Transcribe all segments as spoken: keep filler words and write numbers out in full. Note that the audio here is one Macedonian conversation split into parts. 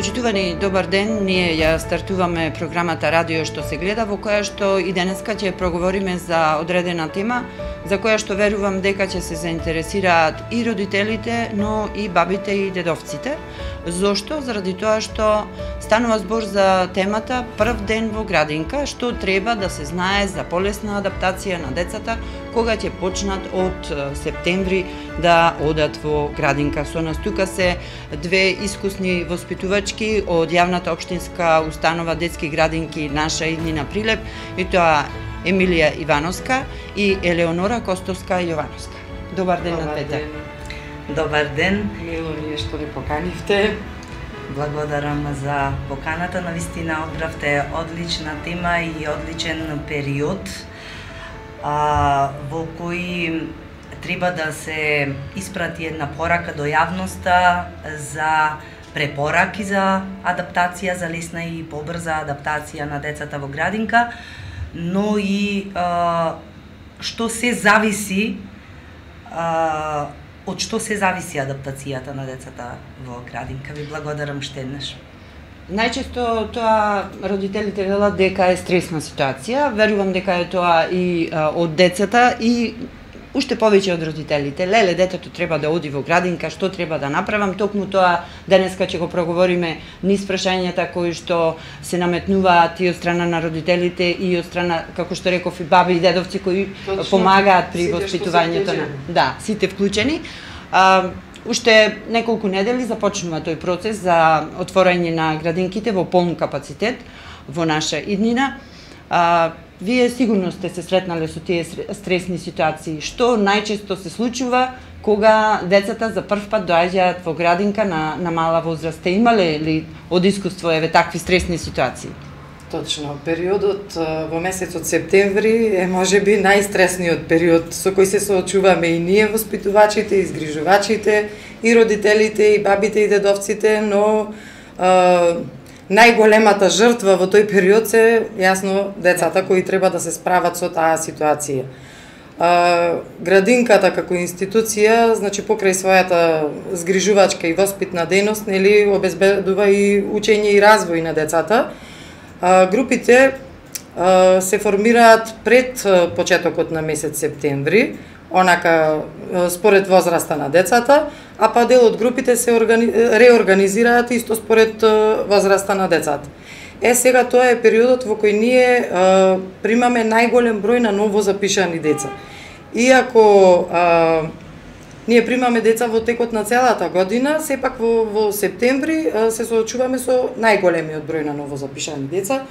Почитувани, добар ден. Ние ја стартуваме програмата Радио што се гледа, во која што и денеска ќе проговориме за одредена тема, за која што верувам дека ќе се заинтересираат и родителите, но и бабите и дедовците. Зошто? Заради тоа што станува збор за темата прв ден во градинка, што треба да се знае за полесна адаптација на децата кога ќе почнат од септември да одат во градинка. Со нас тука се две искусни воспитувачки од јавната општинска установа детски градинки Наша Иднина Прилеп, и тоа Емилија Ивановска и Елеонора Костовска Јовановска. Добар ден на двете. Добар ден. Мило ми е што ни поканивте. Благодарам за поканата. Навистина одбравте одлична тема и одличен период а, во кој треба да се испрати една порака до јавноста за препораки за адаптација, за лесна и побрза адаптација на децата во градинка, но и а, што се зависи а, од што се зависи адаптацијата на децата во градинка. Ви благодарам што еднаш. Најчесто тоа родителите велат дека е стресна ситуација. Верувам дека е тоа и а, од децата и уште повеќе од родителите. Леле, детето треба да оди во градинка, што треба да направам? Токму тоа денеска ќе го проговориме низ прашањата кои што се наметнуваат и од страна на родителите и од страна, како што реков, и баби и дедовци кои Точно. помагаат при воспитувањето на да, сите вклучени. А, уште неколку недели започнува тој процес за отворање на градинките во полн капацитет во Наша Иднина. А, Вие сигурно сте се сретнале со тие стресни ситуации. Што најчесто се случува кога децата за прв пат доаѓаат во градинка на, на мала возраст? Сте имале ли од искуство еве такви стресни ситуации? Точно. Периодот во месецот септември е можеби најстресниот период со кој се соочуваме и ние воспитувачите, и згрижувачите, и родителите, и бабите и дедовците, но а, најголемата жртва во тој период се јасно децата кои треба да се справат со таа ситуација. А, градинката како институција, значи покрај својата згрижувачка и воспитна дејност, нели обезбедува и учење и развој на децата. А, групите а, се формираат пред почетокот на месец септември, онака според возраста на децата, а па дел од групите се органи... реорганизираат исто според возраста на децата. Е, сега тоа е периодот во кој ние а, примаме најголем број на ново запишани деца. Иако а, ние примаме деца во текот на целата година, сепак во, во септември а, се соочуваме со најголемиот број на ново запишани деца,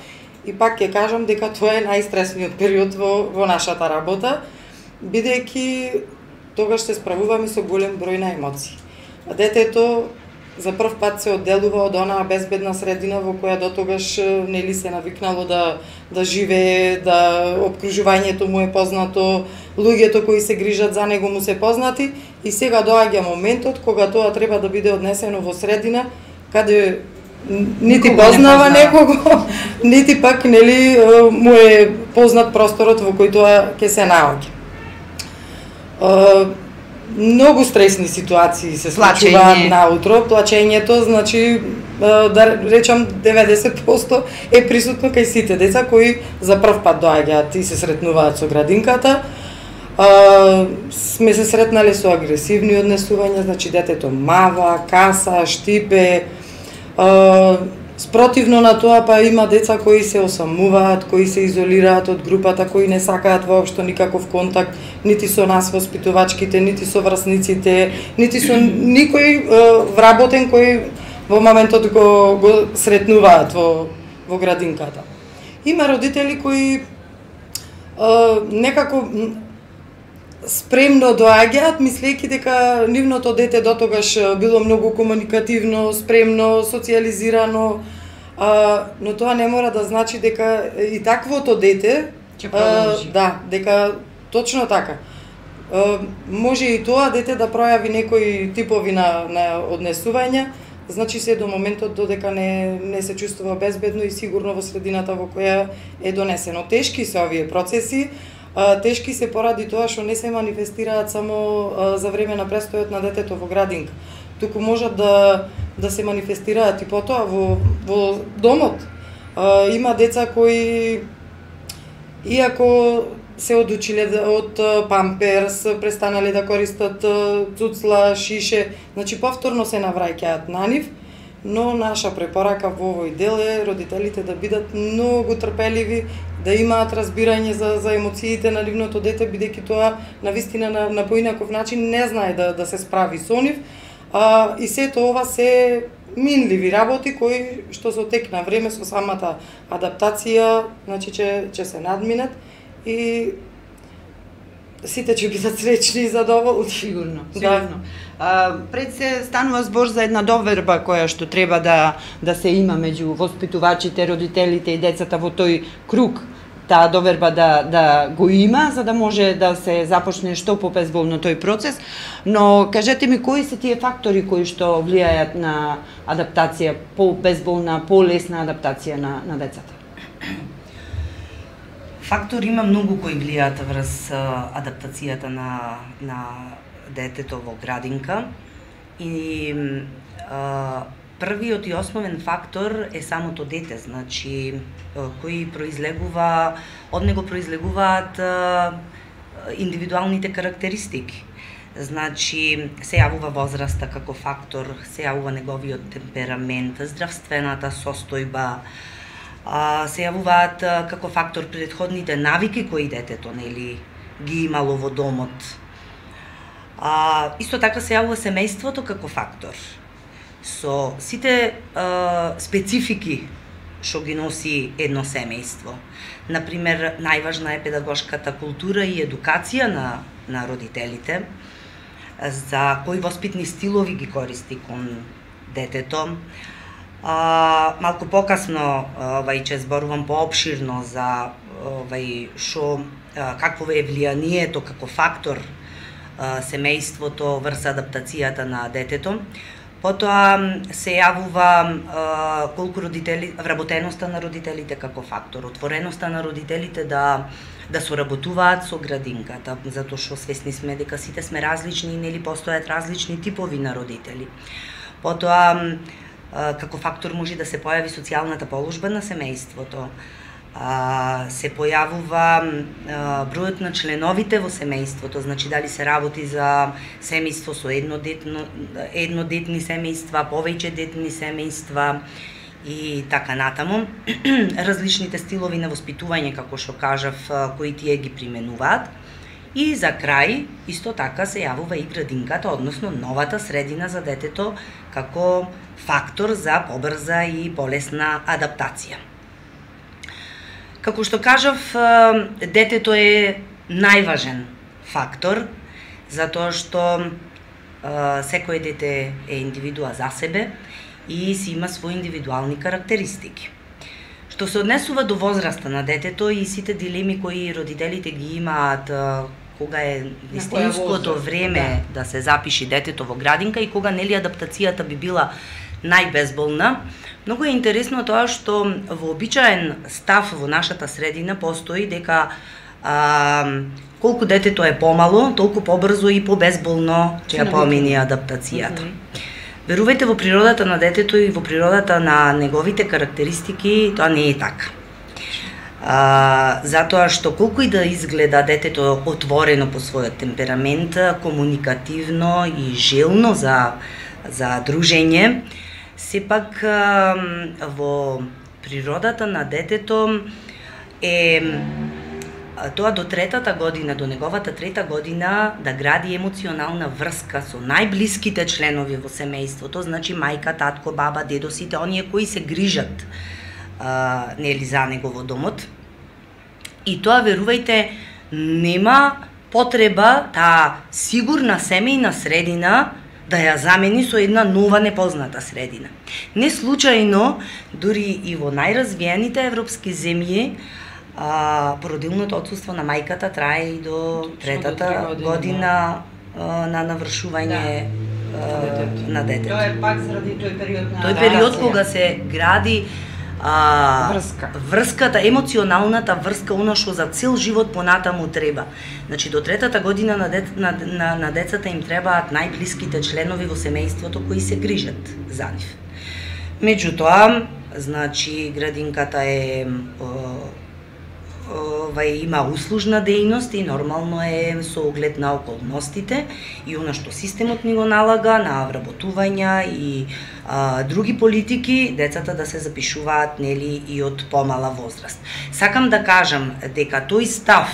и пак ќе кажам дека тоа е најстресниот период во, во нашата работа, бидејќи тогаш се справуваме со голем број на емоции. А детето за прв пат се одделува од онаа безбедна средина во која дотогаш нели се навикнало да да живее, да опкружувањето му е познато, луѓето кои се грижат за него му се познати, и сега доаѓа моментот кога тоа треба да биде однесено во средина каде нити познава некого, нити пак нели му е познат просторот во кој тоа ќе се наоѓа. Uh, многу стресни ситуации се случуваат наутро. Плачењето, значи, uh, да речам, деветдесет проценти е присутно кај сите деца кои за прв пат доаѓаат и се сретнуваат со градинката. Uh, сме се сретнале со агресивни однесувања, значи детето мава, каса, штипе. Uh, Спротивно на тоа, па има деца кои се осамуваат, кои се изолираат од групата, кои не сакаат воопшто никаков контакт, нити со нас воспитувачките, нити со врсниците, нити со никој е, вработен кој во моментот го, го сретнуваат во, во градинката. Има родители кои е, некако спремно доаѓаат, мислејќи дека нивното дете дотогаш било многу комуникативно, спремно, социјализирано, а, но тоа не мора да значи дека и таквото дете ќе продолжи. Да, дека точно така. А, може и тоа дете да пројави некои типови на, на однесувања, значи се до моментот додека не, не се чувствува безбедно и сигурно во средината во која е донесено. Тешки се овие процеси, а, тешки се поради тоа што не се манифестираат само а, за време на престојот на детето во градинка, туку можат да да се манифестираат и потоа во, во домот. А, има деца кои, иако се одучиле од памперс, престанале да користат цуцла, шише, значи повторно се навраќаат на нив, но наша препорака во овој дел е родителите да бидат многу трпеливи, да имаат разбирање за, за емоциите на нивното дете, бидејќи тоа навистина на, на поинаков начин не знае да, да се справи со нив, а, и сето ова се минливи работи кои што со тек на време со самата адаптација, значи ќе ќе се надминат и сите ќе бидат среќни и задоволни. Сигурно, сигурно. Да. А, пред се станува збор за една доверба која што треба да да се има меѓу воспитувачите, родителите и децата во тој круг. Таа доверба да да го има за да може да се започне што побезболно тој процес, но кажете ми кои се тие фактори кои што влијаат на адаптација, побезболна, полесна адаптација на на децата? Фактори има многу кои влијаат врз адаптацијата на на детето во градинка и а, првиот и основен фактор е самото дете, значи кои произлегува, од него произлегуваат а, индивидуалните карактеристики. Значи се јавува возраста како фактор, се јавува неговиот темперамент, здравствената состојба, а, се јавуваат а, како фактор претходните навики кои детето нели ги имало во домот. А, исто така се јавува семејството како фактор. Со сите а, специфики што ги носи едно семејство. Например, најважна е педагошката култура и едукација на, на родителите, за кои воспитни стилови ги користи кон детето. А, малку покасно овај ќе зборувам поопширно за овај што какво е влијанието како фактор семејството врз адаптацијата на детето. Потоа се јавува а, колку родители, вработеноста на родителите како фактор, отвореноста на родителите да да соработуваат со градинката, затоа што свесни сме дека сите сме различни и нели постојат различни типови на родители. Потоа а, како фактор може да се појави социјалната положба на семејството. А, се појавува а, бројот на членовите во семејството, значи дали се работи за семејство со еднодетно, еднодетни семејства, повеќе детни семејства и така натаму. Различните стилови на воспитување, како што кажав, кои тие ги применуваат. И за крај, исто така се јавува и градинката, односно новата средина за детето, како фактор за побрза и полесна адаптација. Како што кажав, детето е најважен фактор, затоа што секој дете е индивидуа за себе и си има своји индивидуални карактеристики. Што се однесува до возраста на детето и сите дилеми кои родителите ги имаат кога е вистинското време да. да се запиши детето во градинка и кога нели адаптацијата би била најбезболна. Многу е интересно тоа што вообичаен став во нашата средина постои дека а, колку детето е помало, толку побрзо и побезболно ќе ја помини адаптацијата. Mm-hmm. Верувајте, во природата на детето и во природата на неговите карактеристики тоа не е така. А, затоа што колку и да изгледа детето отворено по својот темперамент, комуникативно и желно за за дружење, сепак во природата на детето е тоа до третата година, до неговата трета година да гради емоционална врска со најблиските членови во семејството, значи мајка, татко, баба, дедо, сите оние кои се грижат а, нели за него во домот. И тоа, верувајте, нема потреба таа сигурна семејна средина да ја замени со една нова непозната средина. Не случајно, дури и во најразвиените европски земји, а, породилното отсуство на мајката трае и до третата година, година а, на навршување да. а, на детето. Тоа е пак заради тој период на Тој период кога се гради а, врска. Врската, емоционалната врска, она што за цел живот понатаму треба. Значи до третата година на, дет, на, на, на децата им требаат најблиските членови во семејството кои се грижат за нив. Меѓутоа, значи градинката е Вај има услужна дејност и нормално е со оглед на околностите и она што системот ни го налага на вработувања и а, други политики, децата да се запишуваат нели и од помала возраст. Сакам да кажам дека тој став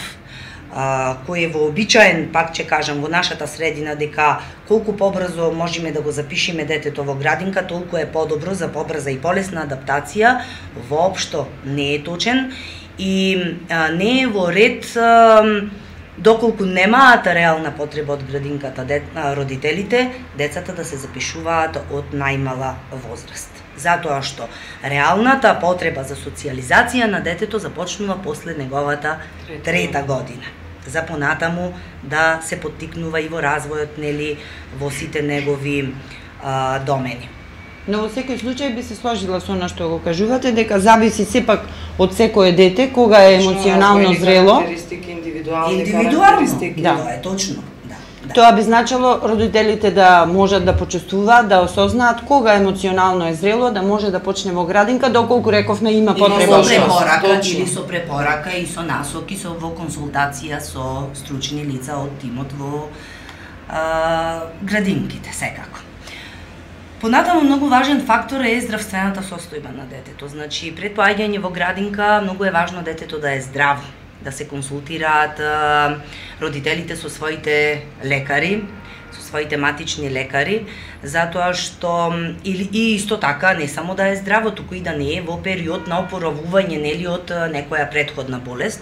а, кој е вообичаен, пак ќе кажам, во нашата средина, дека колку побрзо можеме да го запишеме детето во градинка, толку е подобро за побрза и полесна адаптација, воопшто не е точен. И а, не е во ред а, доколку немаат реална потреба од градинката дет, а, родителите, децата да се запишуваат од најмала возраст. Затоа што реалната потреба за социјализација на детето започнува после неговата трета година. За понатаму да се поттикнува и во развојот, нели, во сите негови а, домени. Но во секој случај би се сложила со она што го кажувате, дека зависи сепак од секое дете кога е емоционално зрело. Индивидуални карактеристики, да, тоа е точно. Да, да. Тоа би значило родителите да можат да почувствуваат, да осознаат кога емоционално е зрело, да може да почне во градинка, доколку рековме има потреба. Со препорака или со препорака и со насоки, со во консултација со стручни лица од тимот во а, градинките, секако. Понатаму многу важен фактор е здравствената состојба на детето. Значи, пред поаѓање во градинка многу е важно детето да е здраво, да се консултираат а, родителите со своите лекари, со своите матични лекари, затоа што или и исто така не само да е здраво, туку и да не е во период на опоравување нели од некоја претходна болест,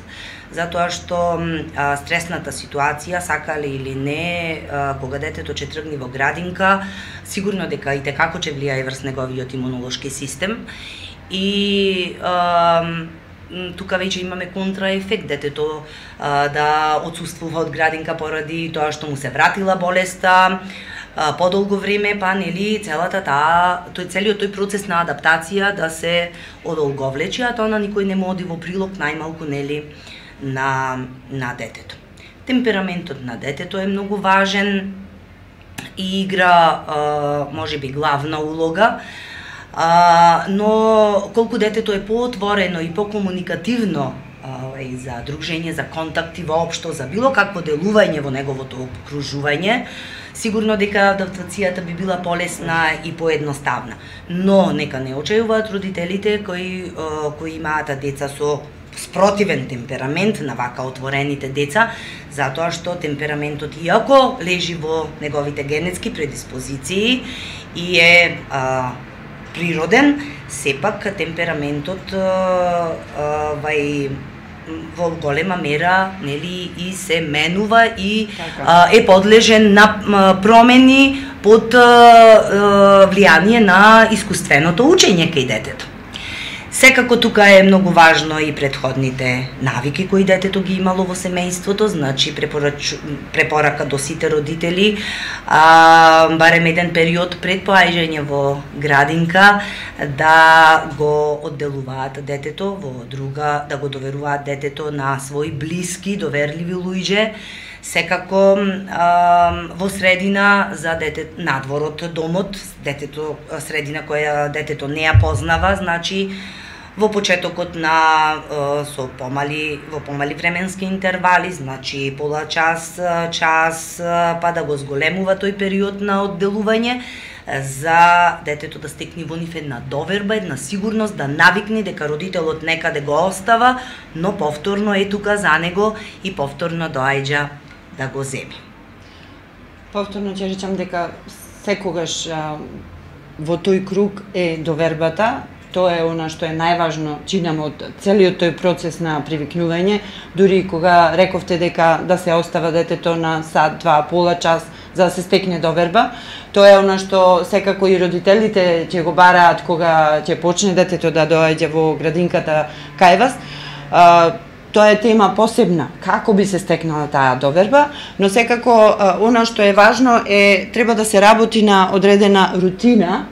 затоа што а, стресната ситуација, сакале или не, а, кога детето ќе тргне во градинка, сигурно дека и текако ќе влијае врз неговиот имунолошки систем и а, тука веќе имаме контраефект, детето а, да отсуствува од градинка поради тоа што му се вратила болеста, а, подолго време, па нели целата таа, тој целиот тој процес на адаптација да се одолговлечи, а тоа на никој не му оди во прилог, најмалку нели на на детето. Темпераментот на детето е многу важен и игра а, можеби главна улога. А, но колку детето е поотворено и покомуникативно а, и за дружење, за контакти воопшто, за било какво делување во неговото окружување, сигурно дека адаптацијата би била полесна и поедноставна. Но нека не очајуваат родителите кои а, кои имаат деца со спротивен темперамент на вака отворените деца, затоа што темпераментот, иако лежи во неговите генетски предиспозиции и е а, природен, сепак темпераментот а, а, вај во голема мера нели и се менува и а, е подлежен на а, промени под а, а, влијание на искуственото учење кај детето. Секако тука е многу важно и предходните навики кои детето ги имало во семејството, значи препорач... препорака до сите родители, а, барем еден период пред поаѓање во градинка да го одделуваат детето во друга, да го доверуваат детето на свои блиски, доверливи луѓе, секако а, во средина за дете надвор од домот, детето средина која детето не ја познава, значи во почетокот на со помали во помали временски интервали, значи пола час, час, па да го зголемува тој период на одделување за детето да стекне во нив една доверба, една сигурност, да навикне дека родителот некаде го остава, но повторно е тука за него и повторно доаѓа да го земи. Повторно ќе речам дека секогаш а, во тој круг е довербата. Тоа е она што е најважно, чинам од целиот тој процес на привикнување, дури кога рековте дека да се остава детето на сат, два, пола час за да се стекне доверба. Тоа е она што секако и родителите ќе го бараат кога ќе почне детето да доаѓа во градинката кај вас. А, тоа е тема посебна, како би се стекнала таа доверба, но секако а, она што е важно е треба да се работи на одредена рутина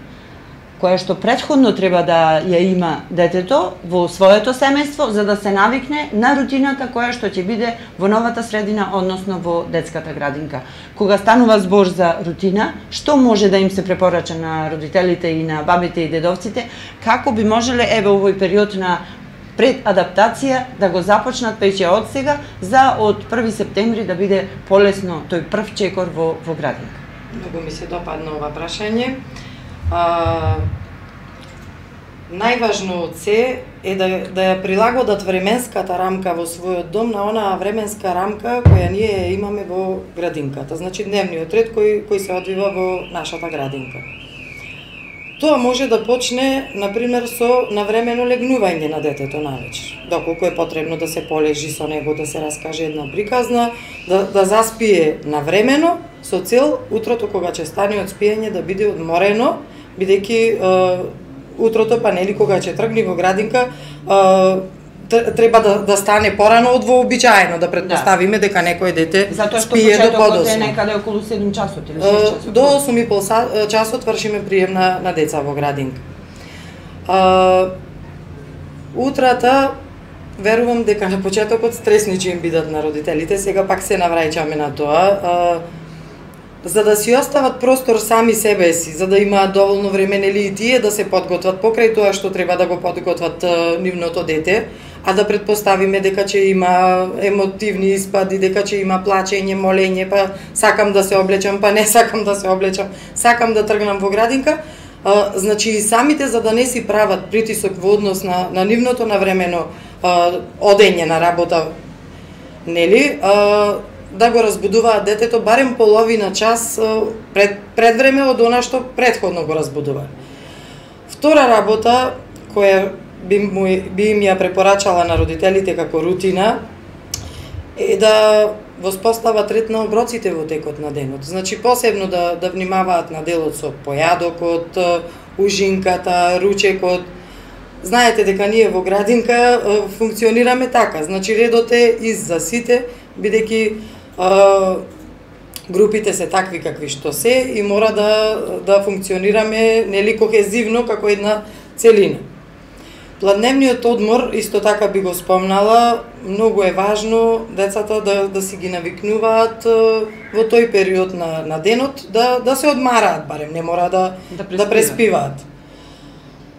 која што претходно треба да ја има детето во своето семејство, за да се навикне на рутината која што ќе биде во новата средина, односно во детската градинка. Кога станува збор за рутина, што може да им се препорача на родителите и на бабите и дедовците, како би можеле еве овој период на пред адаптација да го започнат веќе од сега, за од први септември да биде полесно тој прв чекор во, во градинка. Многу ми се допадна ова прашање. А, најважно од се е да, да ја прилагодат временската рамка во својот дом на онаа временска рамка која ние имаме во градинката, значи дневниот ред кој, кој се одвива во нашата градинка. Тоа може да почне, например, со навремено легнување на детето навечер, доколку е потребно да се полежи со него, да се раскаже една приказна, да, да заспие навремено, со цел утрото кога ќе стане од спиење да биде одморено, бидејќи е, утрото, па нели кога ќе тргне во градинка, е, треба да, да стане порано од вообичаено, да предпоставиме да. дека некој дете Затоа спие до подоцна. Затоа што почетокот е некаде околу седум часот или шест часот. До осум и пол часот вршиме прием на, на деца во градинка. А, утрата, верувам дека на почетокот стресни ќе им бидат на родителите, сега пак се навраќаме на тоа. А, за да си остават простор сами себе си, за да имаат доволно време нели и тие да се подготват покрај тоа што треба да го подготват а, нивното дете, а да предпоставиме дека ќе има емотивни испади, дека ќе има плачење, молење, па сакам да се облечам, па не сакам да се облечам, сакам да тргнам во градинка. А, значи и самите за да не си прават притисок во однос на, на нивното навремено а, одење на работа, нели, а, да го разбудуваат детето барем половина час пред, пред време од она што предходно го разбудува. Втора работа, која би, му, би им ја препорачала на родителите како рутина, е да воспостават ред на оброците во текот на денот. Значи, посебно да, да внимаваат на делот со појадокот, ужинката, ручекот. Знаете дека ние во градинка функционираме така, значи редот е из за сите, бидејќи групите се такви какви што се и мора да, да функционираме нели кохезивно како една целина. Пладневниот одмор, исто така би го спомнала, многу е важно децата да, да си ги навикнуваат во тој период на, на денот, да, да се одмараат барем, не мора да, да, преспиваат. да преспиваат.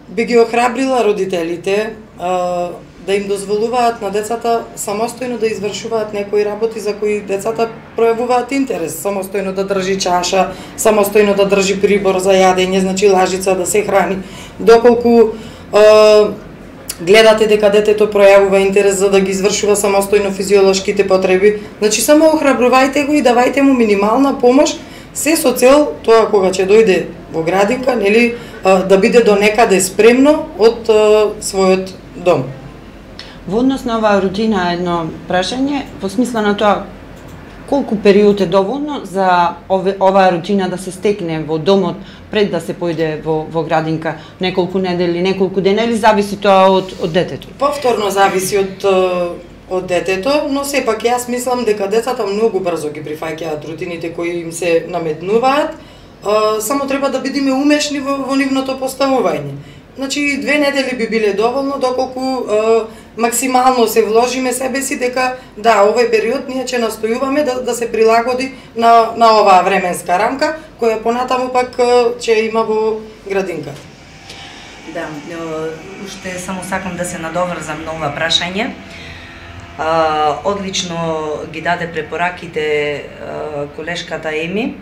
Би ги охрабрила родителите а, да им дозволуваат на децата самостојно да извршуваат некои работи за кои децата пројавуваат интерес, самостојно да држи чаша, самостојно да држи прибор за јадење, значи лажица да се храни. Доколку а, гледате дека детето пројавува интерес за да ги извршува самостојно физиолошките потреби, значи само охрабрувајте го и давајте му минимална помош, се со цел тоа кога ќе дојде во градинка, нели, да биде до некаде спремно од својот дом. Во однос на оваа рутина едно прашање, во смисла на тоа колку период е доволно за ове, оваа рутина да се стекне во домот пред да се појде во, во градинка, неколку недели, неколку дена, или зависи тоа од, од детето? Повторно зависи од, од детето, но сепак јас мислам дека децата многу брзо ги прифаќаат рутините кои им се наметнуваат, само треба да бидеме умешни во, во нивното поставување. Значи, две недели би биле доволно, доколку е, максимално се вложиме себе си дека, да, овој период ние ќе настојуваме да, да се прилагоди на, на оваа временска рамка, која понатаму пак ќе има во градинката. Да, уште само сакам да се надоврзам на ова прашање. Одлично ги даде препораките колешката Еми.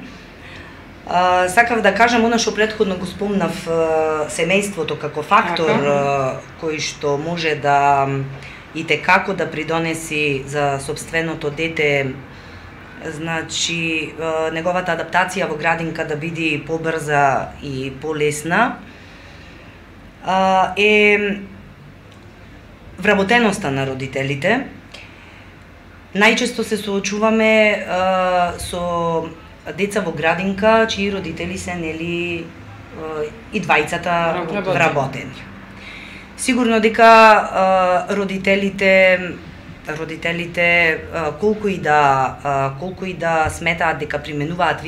Uh, сакав да кажам она што претходно го спомнав, uh, семејството како фактор uh, кој што може да и те како да придонеси за собственото дете, значи uh, неговата адаптација во градинка да биде побрза и полесна, uh, е вработеноста на родителите. Најчесто се соочуваме uh, со деца во градинка чии родители се нели и двајцата вработени. Сигурно дека родителите родителите колку и да колку и да сметаат дека применуваат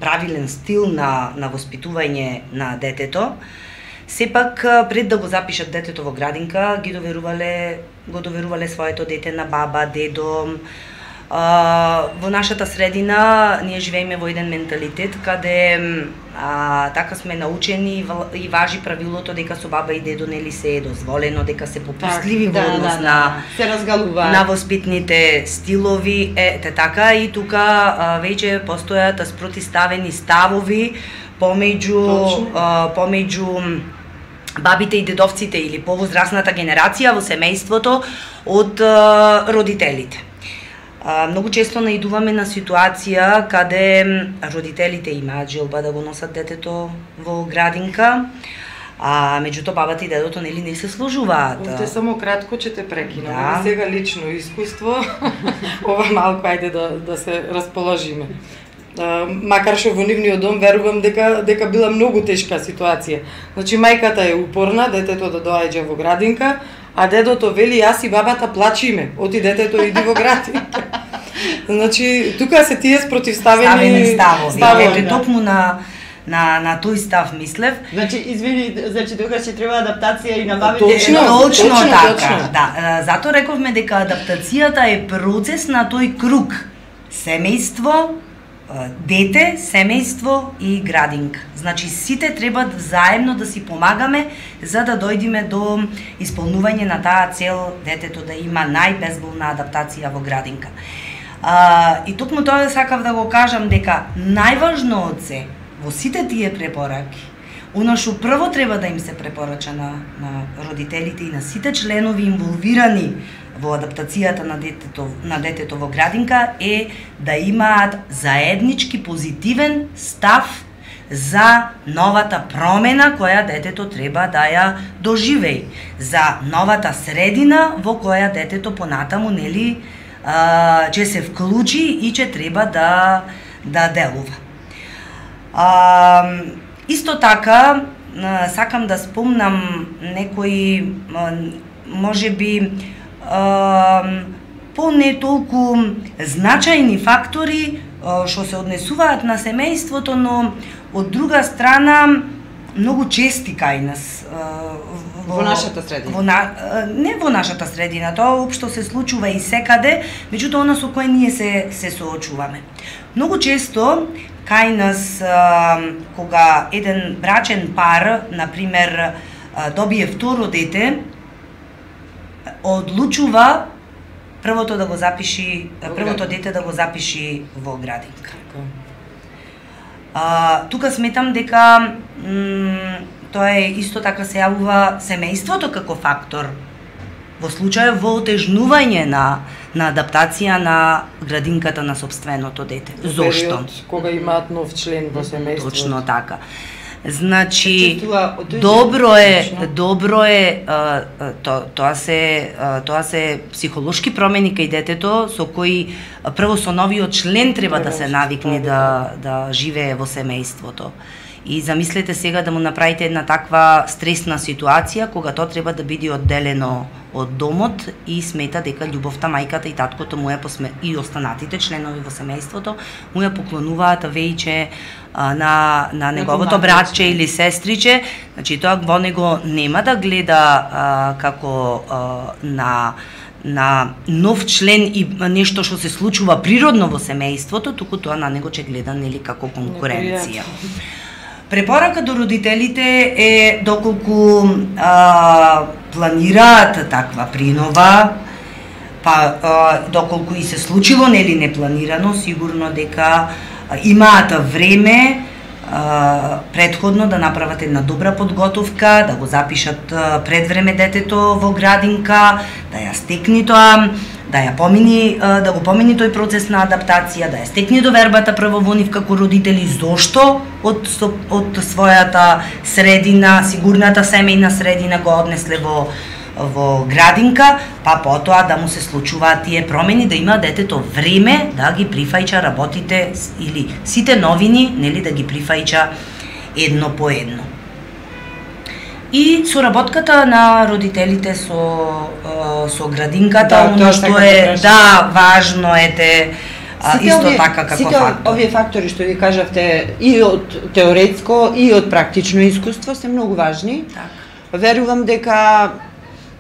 правилен стил на на воспитување на детето, сепак пред да го запишат детето во градинка, ги доверувале, го доверувале своето дете на баба, дедо. Uh, во нашата средина ние живееме во еден менталитет каде uh, така сме научени и важи правилото дека со баба и дедо нели се е дозволено, дека се попустливи во однос да, да, на се разгалува на воспитните стилови, ете така и тука uh, веќе постојат спротиставени ставови помеѓу uh, помеѓу бабите и дедовците или повозрасната генерација во семејството од uh, родителите. Uh, многу често наидуваме на ситуација каде родителите имаат желба да го носат детето во градинка, а меѓутоа бабата и дедото нели не се сложуваат. Овде само кратко ќе те прекинам. Да. Сега лично искуство, ова малку ајде да да се расположиме. Uh, макар што во нивниот дом верувам дека дека била многу тешка ситуација. Значи мајката е упорна детето да доаѓа во градинка, а дедото вели јас и бабата плачиме, оти детето иди во градинка. Значи тука се тие спротивставени ставени ставови. ставови. Ете токму на на на тој став мислев. Значи извини, значи тука ќе треба адаптација и на бабите. Точно, точно, точно така. точно. Да, затоа рековме дека адаптацијата е процес на тој круг. Семејство, дете, семејство и градинка. Значи сите треба заедно да си помагаме за да дојдеме до исполнување на таа цел детето да има најбезболна адаптација во градинка. А, и токму тоа сакав да го кажам дека најважно од се во сите тие препораки, она што прво треба да им се препорача на, на родителите и на сите членови инволвирани во адаптацијата на детето, на детето во градинка е да имаат заеднички позитивен став за новата промена која детето треба да ја доживеи, за новата средина во која детето понатаму нели ќе се вклучи и ќе треба да да делува. А, исто така сакам да спомнам некои можеби по не толку значајни фактори што се однесуваат на семејството, но од друга страна многу чести кај нас во, во нашата средина. Во на, не во нашата средина, тоа општо се случува и секаде, меѓутоа она со кое ние се се соочуваме. Многу често кај нас кога еден брачен пар, на пример, добие второ дете, одлучува првото да го запиши, првото дете да го запиши во градинка. А, тука сметам дека м, тоа е исто така се јавува семејството како фактор во случај во отежнување на на адаптација на градинката на собственото дете. Зошто? Кога имаат нов член во семејството. Точно така. Значи добро е, добро е тоа тоа се тоа се психолошки промени кај детето со кои прво со новиот член треба да се навикне да да живее во семејството. И замислете сега да му направите една таква стресна ситуација кога тоа треба да биде одделено од домот и смета дека љубовта мајката и таткото му ја посме и останатите членови во семејството му ја поклонуваат веќе на на неговото братче или сестриче, значи тоа во него нема да гледа а, како а, на на нов член и нешто што се случува природно во семејството, туку тоа на него ќе гледа нели како конкуренција. Препорака до родителите е доколку а, планираат таква принова, па а, доколку и се случило нели непланирано, сигурно дека имаат време а, предходно да направат една добра подготовка, да го запишат а, пред време детето во градинка, да ја стекни тоа, да ја помини, а, да го помини тој процес на адаптација, да ја стекни довербата прво во нив како родители зошто од од својата средина, сигурната семејна средина го однесле во во градинка, па потоа да му се случуваат тие промени, да има детето време да ги прифаќа работите или сите новини, нели да ги прифаќа едно по едно. И соработката на родителите со со градинката, да, оно што е да важно е те а, сите исто овие, така како сите фактор. овие фактори што ви кажавте и од теоретско и од практично искуство се многу важни. Так. Верувам дека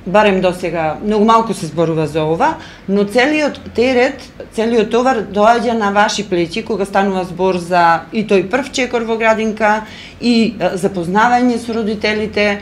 барем до сега многу малку се зборува за ова, но целиот терет, целиот товар доаѓа на ваши плеќи кога станува збор за и тој прв чекор во градинка и запознавање со родителите.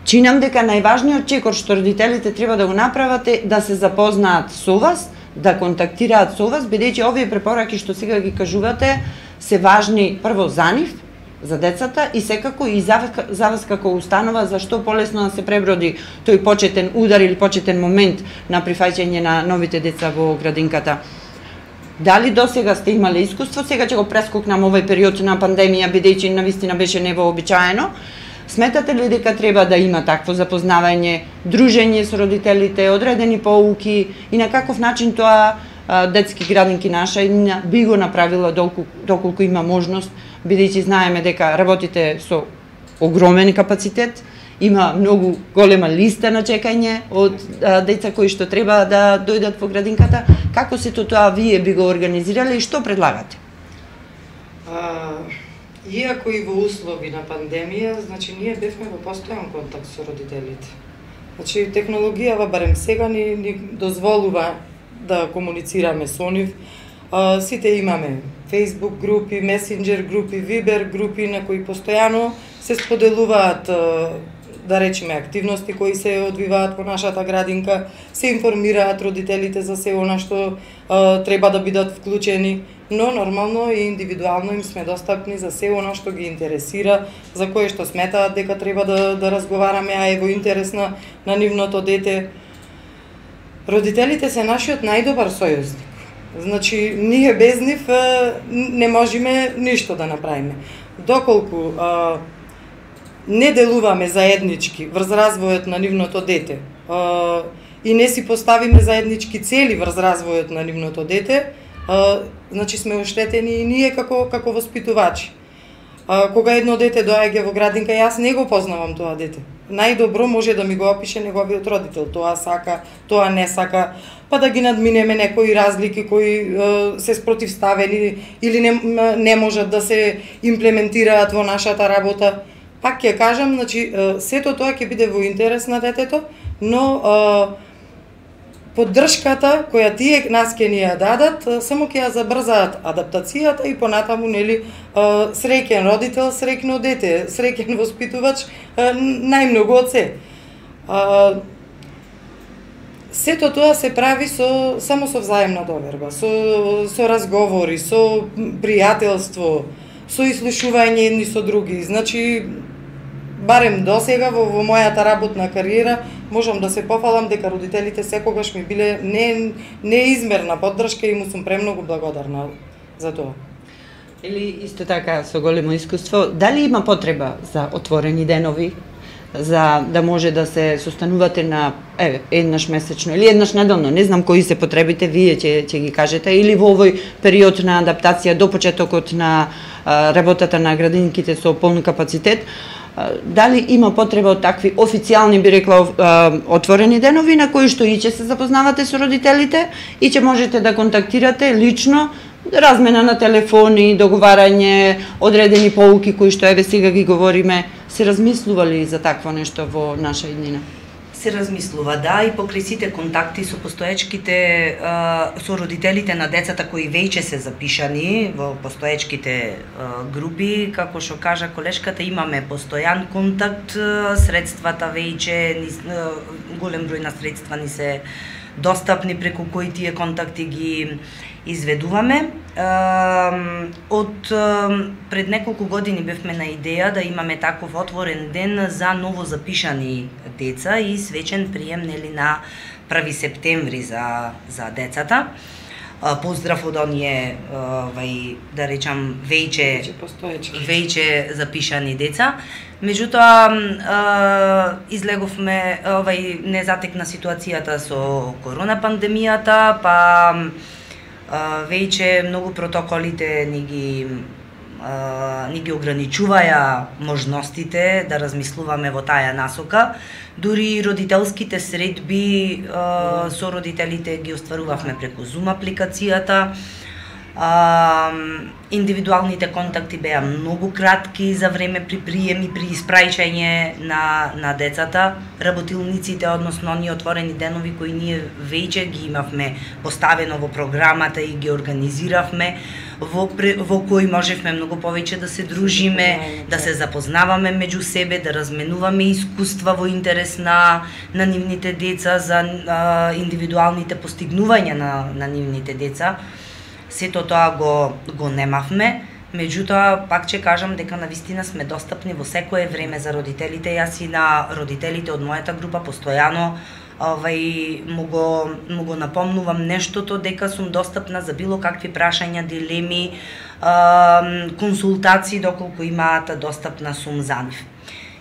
Чинам дека најважниот чекор што родителите треба да го направат е да се запознаат со вас, да контактираат со вас, бидејќи овие препораки што сега ги кажувате се важни прво за нив, за децата и секако и за вас, за вас како установа, зашто полесно да се преброди тој почетен удар или почетен момент на прифаќање на новите деца во градинката. Дали до сега сте имале искуство, сега ќе го прескокнам овој период на пандемија, бидејќи навистина беше невообичаено. Сметате ли дека треба да има такво запознавање, дружење со родителите, одредени поуки и на каков начин тоа детски градинки наша би го направила доколку, доколку има можност, бидејќи знаеме дека работите со огромен капацитет, има многу голема листа на чекање од а, деца кои што треба да дојдат во градинката. Како сето тоа вие би го организирале и што предлагате? А, иако и во услови на пандемија, значи ние бевме во постојан контакт со родителите. Значи технологијава барем сега ни, ни дозволува да комуницираме со нив. А, сите имаме Facebook групи, Messenger групи, Viber групи на кои постојано се споделуваат, да речеме, активности кои се одвиваат во нашата градинка, се информираат родителите за се она што а, треба да бидат вклучени, но нормално и индивидуално им сме достапни за се она што ги интересира, за кое што сметаат дека треба да, да разговараме, а е во интерес на, на нивното дете. Родителите се нашиот најдобар сојузник. Значи, ние без нив не можеме ништо да направиме. Доколку а, не делуваме заеднички врз развојот на нивното дете а, и не си поставиме заеднички цели врз развојот на нивното дете, а, значи сме оштетени и ние како како воспитувачи. А, кога едно дете доаѓа во градинка, јас не го познавам тоа дете. Најдобро може да ми го опише неговиот родител, тоа сака, тоа не сака, па да ги надминеме некои разлики кои е, се спротивставени или не, не можат да се имплементираат во нашата работа. Пак ќе кажам, значи, сето тоа ќе биде во интерес на детето, но е, поддршката која тие нас ќе ни ја дадат, само ќе ја забрзаат адаптацијата и понатаму, нели, среќен родител, среќно дете, среќен воспитувач, најмногу од се. Сето тоа се прави со само со взаемна доверба, со со разговори, со пријателство, со ислушување едни со други. Значи, барем досега во, во мојата работна кариера можам да се пофалам дека родителите секогаш ми биле не неизмерна поддршка и му сум премногу благодарна за тоа. Или исто така со големо искуство, дали има потреба за отворени денови, за да може да се состанувате на еве еднаш месечно или еднаш неделно, не знам кои се потребите, вие ќе ќе ги кажете, или во овој период на адаптација до почетокот на а, работата на градинките со полн капацитет, а, дали има потреба од такви официјални, би рекла, а, отворени денови на кои што и ќе се запознавате со родителите и ќе можете да контактирате лично, размена на телефони, договарање, одредени поуки кои што еве сега ги говориме. Се размислували за такво нешто во наша иднина? Се размислува, да, и покрај сите контакти со постоечките, со родителите на децата кои веќе се запишани во постоечките групи, како што кажа колешката, имаме постојан контакт, средствата веќе, голем број на средства ни се достапни преку кои тие контакти ги изведуваме. Од пред неколку години бевме на идеја да имаме таков отворен ден за ново запишани деца и свечен прием, нели, на први септември за за децата. Поздрав од оние, вај, да речам, веќе веќе запишани деца. Меѓутоа, излеговме, овај, не затекна ситуацијата со корона пандемијата, па веќе многу протоколите ни ги ни ги ограничуваја можностите да размислуваме во таа насока. Дури родителските средби со родителите ги остварувавме преку Zoom апликацијата. А, индивидуалните контакти беа многу кратки за време при прием и при испраќање на, на децата. Работилниците, односно оние отворени денови кои ние веќе ги имавме поставено во програмата и ги организиравме, во, во кои можевме многу повеќе да се дружиме, да се запознаваме меѓу себе, да разменуваме искуства во интерес на, на нивните деца, за а, индивидуалните постигнувања на, на нивните деца. Сето тоа го, го немавме, меѓутоа, пак ќе кажам дека навистина сме достапни во секое време за родителите. Јас и на родителите од мојата група постојано овај, му, го, му го напомнувам нештото, дека сум достапна за било какви прашања, дилеми, а, консултации, доколку имаат, достапна сум за нив.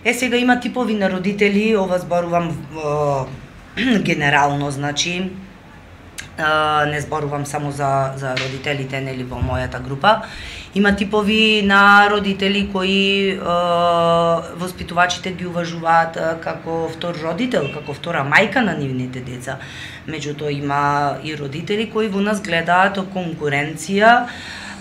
Е, сега има типови на родители, ова зборувам а, генерално, значи, Uh, не зборувам само за, за родителите, нели, во мојата група. Има типови на родители кои uh, воспитувачите ги уважуваат uh, како втор родител, како втора мајка на нивните деца. Меѓутоа има и родители кои во нас гледаат конкуренција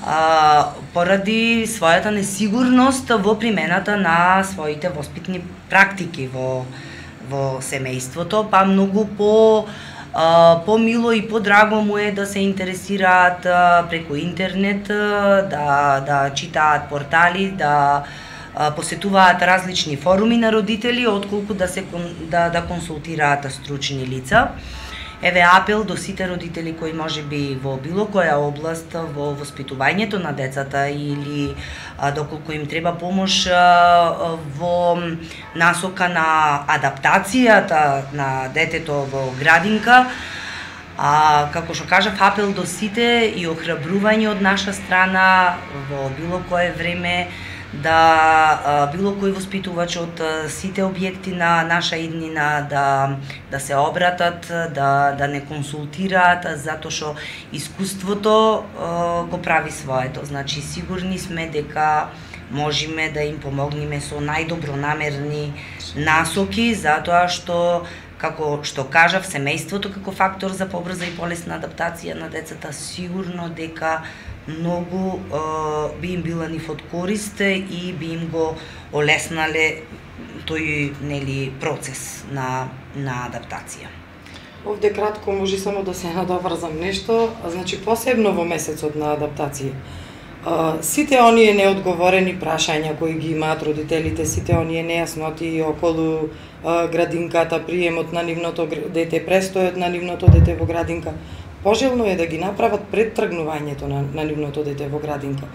uh, поради својата несигурност во примената на своите воспитни практики во, во семејството, па многу по Uh, помило и подраго му е да се интересираат uh, преку интернет, uh, да, да читаат портали, да uh, посетуваат различни форуми на родители, отколку да се да, да консултираат стручни лица. Еве апел до сите родители кои можеби во било која област во воспитувањето на децата или а, доколку им треба помош а, во насока на адаптацијата на детето во градинка, а, како што кажав, апел до сите и охрабрување од наша страна во било кое време да а, било кој воспитувач од а, сите објекти на наша иднина да, да се обратат, да, да не консултираат, затоа што искуството а, го прави своето. Значи, сигурни сме дека можеме да им помогнеме со најдобронамерни насоки, затоа што, како што кажав, семејството како фактор за побрза и полесна адаптација на децата, сигурно дека многу uh, би им била нив од корист и би им го олеснале тој, нели, процес на, на адаптација. Овде кратко може само да се надоврзам нешто, значи посебно во месецот на адаптација. Uh, сите оние неодговорени прашања кои ги имаат родителите, сите оние нејасноти околу uh, градинката, приемот на нивното дете, престојот на нивното дете во градинка, пожелно е да ги направат пред тргнувањето на, на нивното дете во градинка.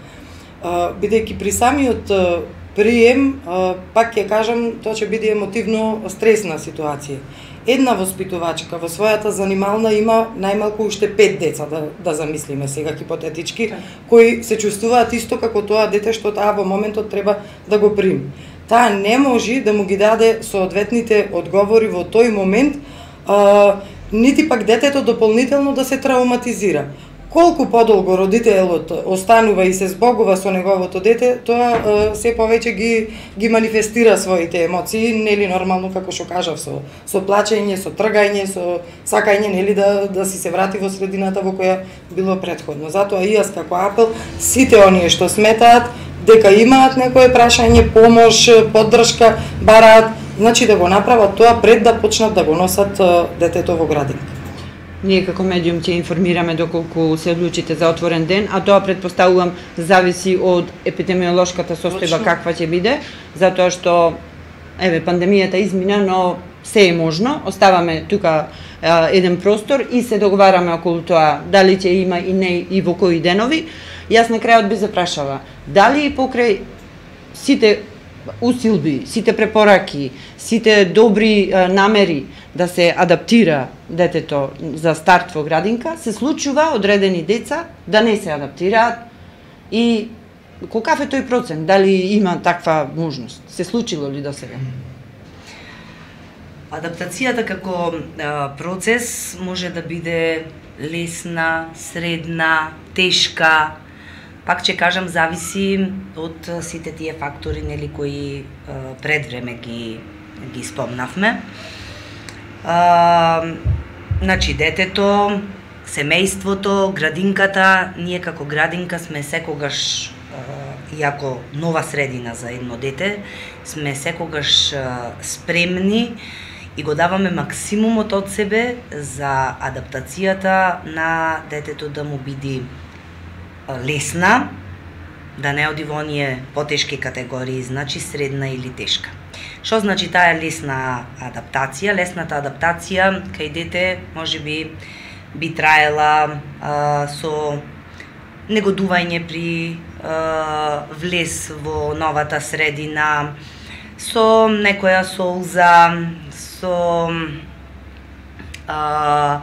Uh, бидејќи при самиот uh, прием, uh, пак ќе кажам, тоа ќе биде емотивно стресна ситуација. Една воспитувачка во својата занимална има најмалку уште пет деца, да, да замислиме сега хипотетички, кои се чувствуваат исто како тоа дете што таа во моментот треба да го прими. Таа не може да му ги даде соодветните одговори во тој момент, uh, нити пак детето дополнително да се травматизира. Колку подолго родителот останува и се збогува со неговото дете, тоа се повеќе ги ги манифестира своите емоции, нели нормално како што кажав, со со плачење, со тргање, со сакање, нели да да си се врати во средината во која било претходно. Затоа и јас како апел сите оние што сметаат дека имаат некое прашање, помош, поддршка, бараат, значи да го направат тоа пред да почнат да го носат детето во градинка. Ние како медиум ќе информираме доколку се одлучите за отворен ден, а тоа претпоставувам зависи од епидемиолошката состојба каква ќе биде, затоа што еве пандемијата измина, но се е можно. Оставаме тука а, еден простор и се договараме околу тоа дали ќе има и не и во кои денови. Јас на крајот би запрашала дали покрај сите усилби, сите препораки, сите добри а, намери да се адаптира детето за старт во градинка, се случува одредени деца да не се адаптираат и колкав е тој процент? Дали има таква можност? Се случило ли до сега? Адаптацијата како а, процес може да биде лесна, средна, тешка, пак ќе кажам, зависи од сите тие фактори, нели, кои пред време ги ги спомнавме. А, значи, детето, семејството, градинката, ние како градинка сме секогаш, иако нова средина за едно дете, сме секогаш спремни и го даваме максимумот од себе за адаптацијата на детето да му биде лесна, да не оди во оние потешки категории, значи средна или тешка. Што значи таа лесна адаптација? Лесната адаптација кај дете можеби би траела а, со негодување при а, влез во новата средина, со некоја солза, со а,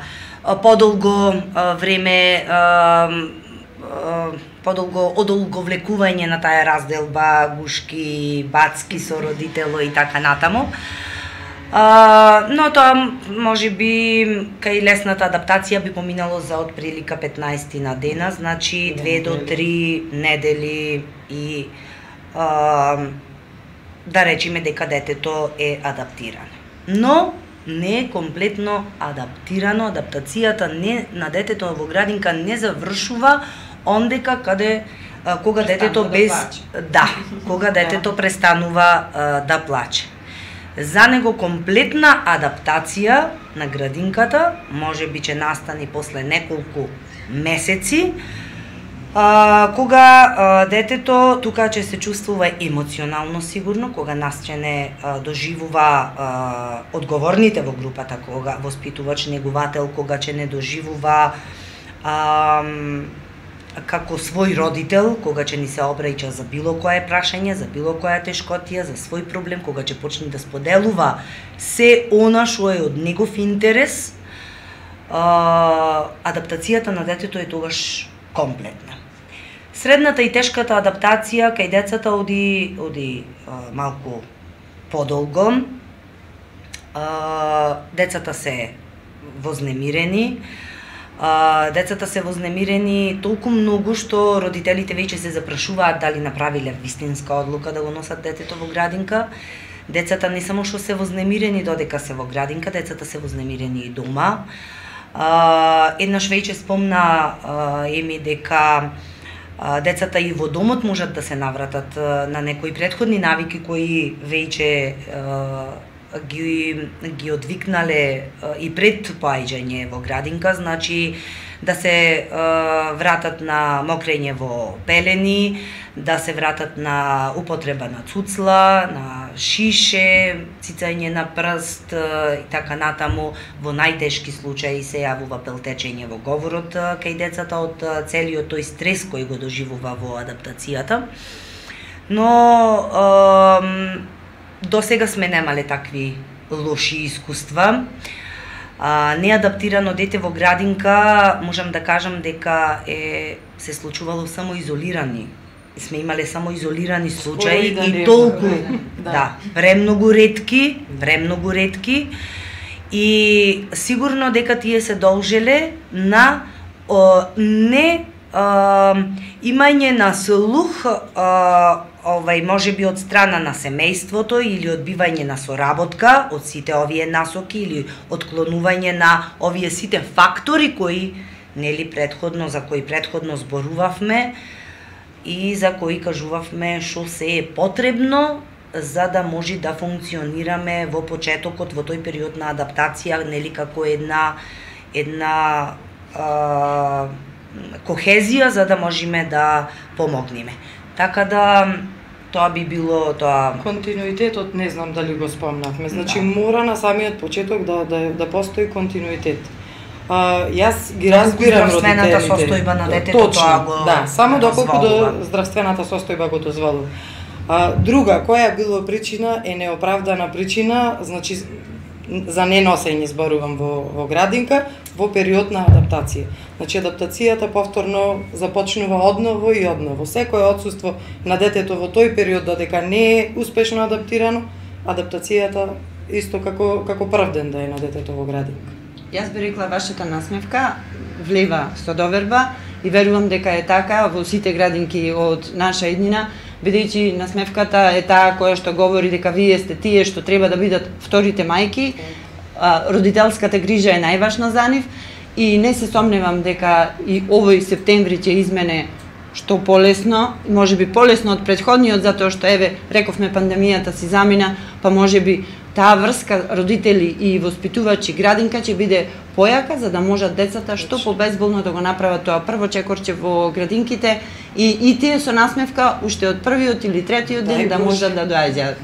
подолго а, време а, а, подолго одолговлекување на таа разделба, гушки, бацки со родитело и така натаму. А, но тоа може би кај лесната адаптација би поминало за од прилика петнаесет на дена, значи две до три недели и а, да речеме дека детето е адаптирано. Но не е комплетно адаптирано, адаптацијата не, на детето во градинка не завршува ондека каде а, кога детето без да, да кога детето престанува а, да плаче. За него комплетна адаптација на градинката може би ќе настани после неколку месеци, а, кога а, детето тука ќе се чувствува емоционално сигурно, кога нас ќе не а, доживува а, одговорните во групата, кога воспитувач, негувател, кога ќе не доживува а, како свој родител, кога ќе ни се обраќа за било кое прашање, за било која тешкотија, за свој проблем, кога ќе почне да споделува се она што е од негов интерес, а, адаптацијата на детето е тогаш комплетна. Средната и тешката адаптација кај децата оди, оди а, малку подолго. А, децата се вознемирени, Uh, децата се вознемирени толку многу што родителите веќе се запрашуваат дали направиле вистинска одлука да го носат детето во градинка. Децата не само што се вознемирени додека се во градинка, децата се вознемирени и дома. Uh, еднаш веќе спомна uh, Еми дека uh, децата и во домот можат да се навратат uh, на некои претходни навики кои веќе uh, ги ги одвикнале и пред поаѓање во градинка, значи да се е, вратат на мокрење во пелени, да се вратат на употреба на цуцла, на шише, цицање на прст и така натаму. Во најтешки случаи се јавува пелтечење во говорот кај децата од целиот тој стрес кој го доживува во адаптацијата. Но е, до сега сме немале такви лоши искуства. А, неадаптирано дете во градинка, можам да кажам дека е се случувало само изолирани. Сме имале само изолирани случаи да и толку, да. да, премногу ретки, премногу ретки и сигурно дека тие се должеле на о, не а, имање на слух а, овај можеби од страна на семејството или одбивање на соработка од сите овие насоки или отклонување на овие сите фактори кои нели претходно за кои претходно зборувавме и за кои кажувавме што се е потребно за да може да функционираме во почетокот во тој период на адаптација нели како една една а, кохезија за да можеме да помогнеме. Така да тоа би било тоа континуитетот не знам дали го спомнавме. Значи да. Мора на самиот почеток да да да постои континуитет. А, јас ги разбирам родителите. Здравствената состојба на детето Точно, тоа го да, само доколку дозволува. до здравствената состојба го дозволува. А, друга која било причина е неоправдана причина, значи за неносење зборувам во во градинка во период на адаптација. Значи адаптацијата повторно започнува одново и одново. Секое отсуство на детето во тој период додека не е успешно адаптирано, адаптацијата исто како како прв ден да е на детето во градинка. Јас би рекла вашата насмевка влева со доверба и верувам дека е така во сите градинки од наша иднина, бидејќи насмевката е таа која што говори дека вие сте тие што треба да бидат вторите мајки, родителската грижа е најважна за нив и не се сомневам дека и овој септември ќе измене што полесно, можеби полесно од претходниот, затоа што еве рековме пандемијата си замина, па можеби таа врска родители и воспитувачи градинка ќе биде појака за да можат децата што побезболно да го направат тоа прво чекорче во градинките и и тие со насмевка уште од првиот или третиот ден да можат да доаѓаат.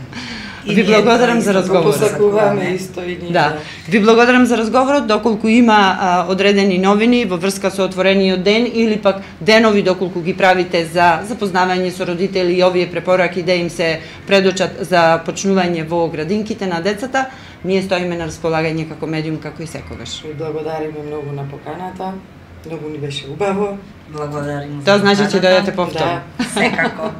Ви благодарам за разговорот. Посакуваме исто и ние. Да. Ви благодарам за разговорот, доколку има а, одредени новини во врска со отворениот ден или пак денови доколку ги правите за запознавање со родители и овие препораки да им се предочат за почнување во градинките на децата, ние стоиме на располагање како медиум како и секогаш. Ви благодариме многу на поканата. Многу ни беше убаво. Благодарим. Тоа значи ќе дојдете повторно. Да. Секако.